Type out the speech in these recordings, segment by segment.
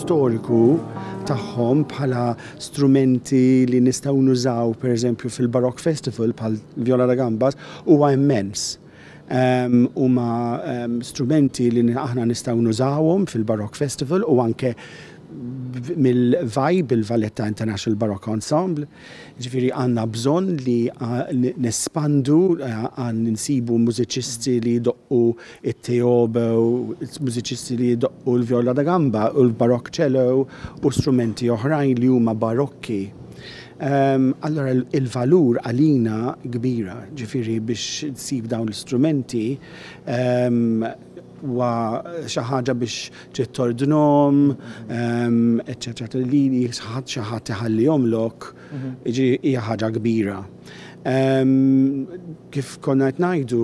storiku tagħhom bħala strumenti li nistgħu nużaw pereżempju fil-Baroque Festival bħal viola da gambas huwa immens. Huma strumenti li aħna nistgħu nużawhom fil-Baroque Festival u anke mill-VIBE, il-Valletta International Baroque Ensemble. Ġifieri għandna bżonn li nespandu, għan nsibu mużiċisti li jdoqqu it-teobo, mużiċisti li jdoqqu l-viola da gamba u l-barok cello u strumenti oħrajn li huma barokki. Allora il-valur għalina kbira, ġifieri biex tsib dawn l-istrumenti huwa xi ħaġa biex trid tordnhom, eċċetera, li xi ħadd iħallihomlok, jiġifieri hija ħaġa kbira. Kif konna qed ngħidu,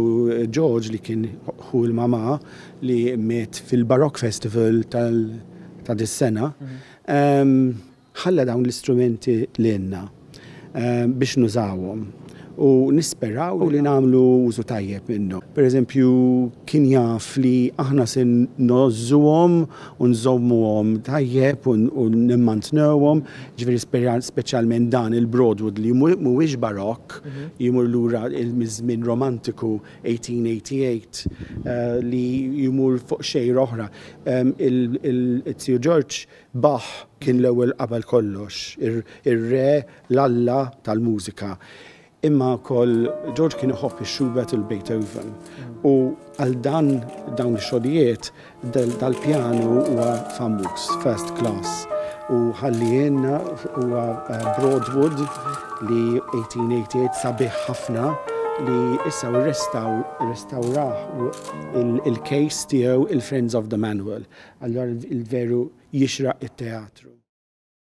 George li kien ħu l-mamà li miet fil-Baroque Festival ta' dis-sena, Ħalla dawn l-istrumenti lilna biex nużawhom u nisperaw li nagħmlu użu tajjeb minnhom. Per eżempju, kien jaf li aħna se ngħożżuhom u nżommuhom tajjeb u nimmantnewhom, ġifieri speċjalment dan il-Broadwood li mhuwiex barokk, jmur lura miż-żmien romantiku 1888 li jmur fuq xejra oħra. Il-Tiju Ġorġ Bach kien l-ewwel qabel kollox, ir-re, l-alla tal-mużika. Imma wkoll George kien iħobb ix-Schubert u l-Beethoven. U għal dan dawn ix-xogħlijiet dal-pjanu huwa famuż, first class. U ħallielna huwa Broadwood li 1888 sabiħ ħafna li issa rrestawrah il-case tiegħu il-Friends of the Manual. Allura il-veru jixraq it-teatru.